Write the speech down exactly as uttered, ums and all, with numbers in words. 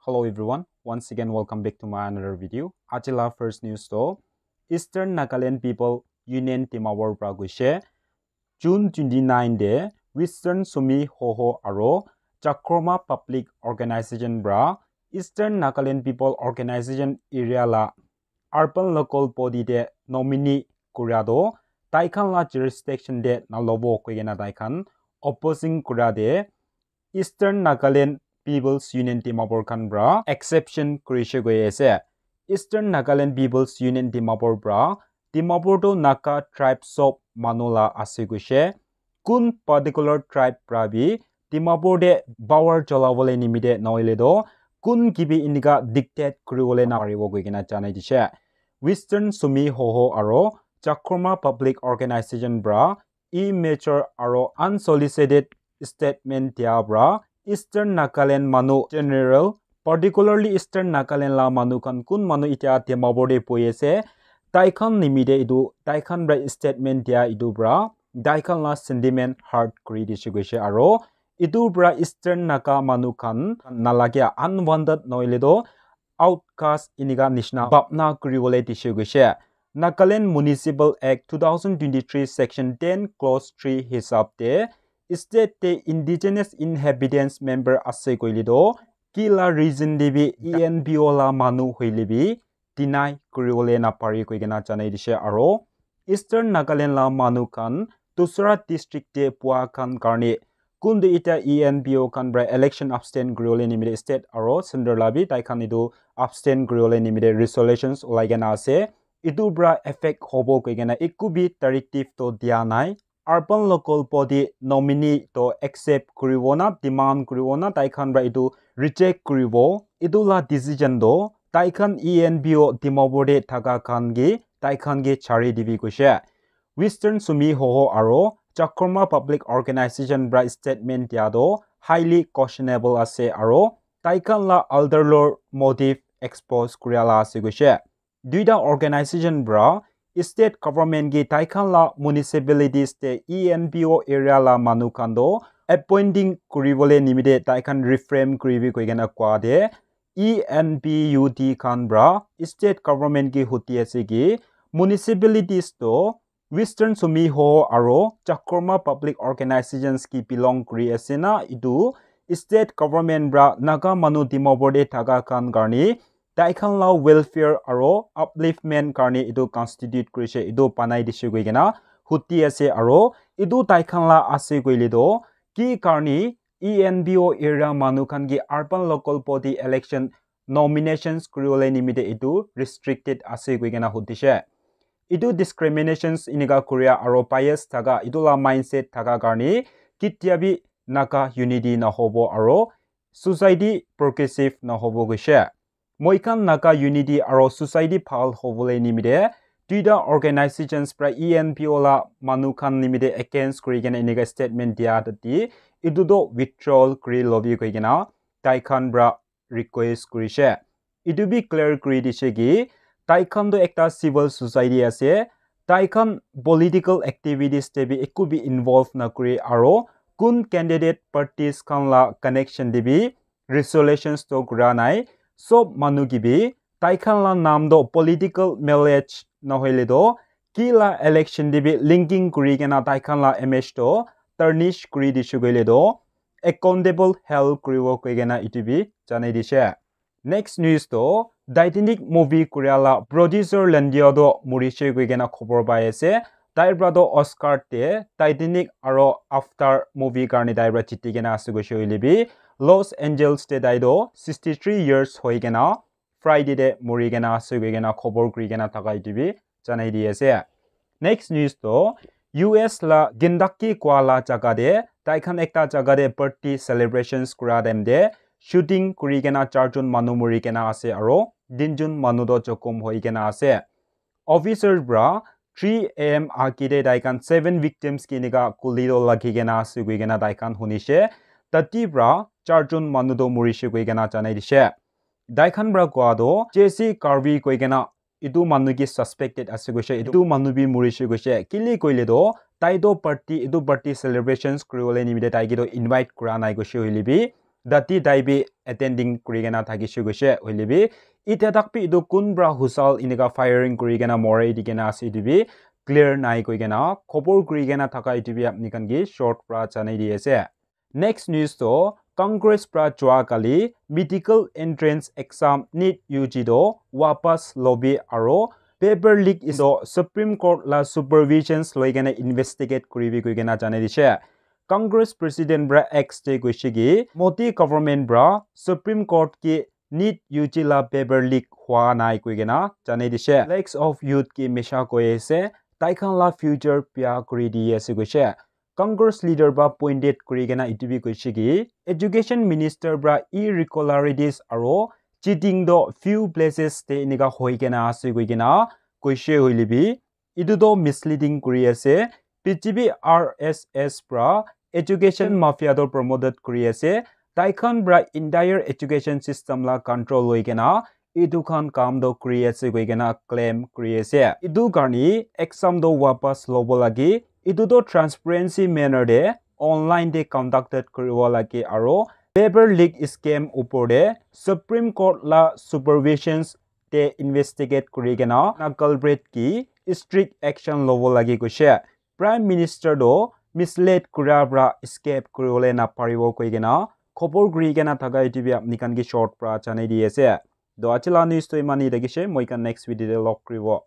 Hello everyone, once again welcome back to my another video. Aji la first news to Eastern Nagaland People Union Dimapur pra koise June twenty-nine de Western Sumi Hoho aro Chakroma Public Organization pra Eastern Nagaland People Organization area la urban local body de nominee kuria do tai khan la jurisdiction de na lobo koi kena tai khan opposing kuria de Eastern Nagaland People's Union Dimapur khan pra exception kurishe koi ase. Eastern Nagaland People's Union Dimapur pra Dimapur to Naga tribe sob manu la ase koishe. Kun particular tribe pra bi Dimapur de power cholabole nimite nohoile do kun kibi inika dictate kuribole naparibo koi kena janai dishe. Western Sumi Hoho aro Chakroma Public Organization pra immature aro unsolicited statement dia pra Eastern Nagaland manu general, particularly Eastern Nagaland la manu khan kun manu itia Dimapur de boi ase, tai khan nimite etu tai khan pra statement dia etu pra tai khan la sentiment hurt kuri dishe koishe aro etu pra Eastern Naga manu khan nalagia unwanted nohoile do outcast inika nishina bhabna kuribole dishe koishe. Nagaland Municipal Act two thousand twenty-three Section ten Clause three hisab te state te indigenous inhabitants member ase koile do ki la reason de bi E N P O la manu hoile bi deny kuribole napari koi kena janai dishe aro Eastern Nagaland la manu khan dusra district te pua khan karne kuntu ita E N P O khan pra election abstain kuribole nimite state aro centre la bi tai khan etu abstain kuribole nimite resolutions ulai kena ase. Etu pra effect hobo koi kena eku bi directive to dia nai. Urban local body nominee to accept kuribo na demand kuribo na tai khan pra etu reject kuribo, etu la decision to tai khan E N P O Dimapur de thaka khan ke tai khan ke chari dibi koishe. Western Sumi Hoho aro Chakroma Public Organization pra statement dia to highly questionable ase aro tai khan la ulterior motive expose kuria la ase koishe. Duita organization pra state government ke tai khan la municipalities te E N P O area la manu khan to appointing kuribole nimite tai khan refrain kuribi koi kena koa de E N P O khan pra state government ke huti ase ki municipalities to Western Sumi Hoho aro Chakroma Public Organizations ki belong kuri ase na etu state government pra Naga manu Dimapur de thaka khan karne tai khan la welfare aro upliftment karne etu constitute kurishe etu banai dishe koi kena huti ase aro etu tai khan la ase koile do ki karne E N P O area manu khan ke urban local body election nominations kuribole nimite etu restricted ase koi kena hutishe. Etu discriminations inika kuria aro bias thaka etu la mindset thaka karne ketia bi Naga unity nahobo aro society progressive nahobo koishe. Moi khan Naga unity aro society bhal hobole nimite duita organizations pra E N P O la manu khan nimite against kuri kena enika statement dia tati etu to withdrawal kuri lobi koi kena tai khan pra request kurishe. Etu bi clear kuri dishe ki tai khan to ekta civil society ase, tai khan political activities te bi eku bi involve na kuri aro kun candidate parties khan la connection te bi resolutions to kura nai. Sob manu ki bi tai khan la naam to political mileage nahoile to ki la election te bi linking kuri kena tai khan la image to tarnish kuri dishe koile to accountable held kuribo koi kena etu bi janai dishe. Next news to Titanic movie kuria la producer Leonardo murishe koi kena khobor pai ase. Tai pra to Oscar te Titanic aro After movie karne tai pra jiti kena ase koishe hoile bi Los Angeles te tai to sixty three years hoi kena Friday te muri kena ase koi kena khobor kuri kena thaka etu bi janai di ase. Next news to U S la Kentucky kua la jaga te tai khan ekta jaga te birthday celebrations kura time te shooting kuri kena charjon manu muri kena ase aro tinjon manu to jokhom hoi kena ase. Officer pra three A M age te tai khan seven victims ki enika guli to lagi kena ase koi kena tai khan hunishe. Tati pra charjon manu to murishe koi kena janai dishe. Tai khan pra koa to Jesse Garvey koi kena etu manu ki suspected ase koishe, etu manu bi murishe koishe. Kile koile to tai to party, etu party celebrations kuribole nimite tai ki to invite kura nai koishe hoile bi tati tai bi attending kuri kena thakishe koishe. Hoile bi, itya tak bi etu kun pra husal enika firing kuri kena morai di kena ase, etu bi clear nai koi kena khobor kuri kena thaka etu bi apni khan ke short pra janai di ase. Next news to, Congress pra jua kali medical entrance exam NEET U G to wapas lobi aro paper leak is to Supreme Court la supervisions loi kena investigate kuribi koi kena janai dishe. Congress President pra X te koishe ki Modi government pra Supreme Court ki NEET U G la paper leak hua nai koi kena janai dishe. Lakhs of youth ki misha koi ase, tai khan la future bia kuri di ase koishe. Congress leader pra pointed kuri kena etu bi koishe ki education minister pra irregularities aro cheating to few places te enika hoi kena ase koi kena koishe. Hoile bi etu to misleading kuri ase. B J P R S S pra education mafia to promoted kuri ase. Tai khan pra entire education system la control hoi kena etu khan kam to kuri ase koi kena claim kuri ase. Etu karne exam to wapas lobo lage. Etu to transparency manner te online te conducted kuribo lage aro paper leak scam upor te Supreme Court la supervisions te investigate kuri kena na culprit ki strict action lobo lage koishe. Prime Minister to mislead kura pra escape kuribole na paribo koi kena khobor kuri kena thaka etu bi apni khan ke short pra janai di ase. To aji la news to iman hi thakishe, moi khan next video te log kuribo.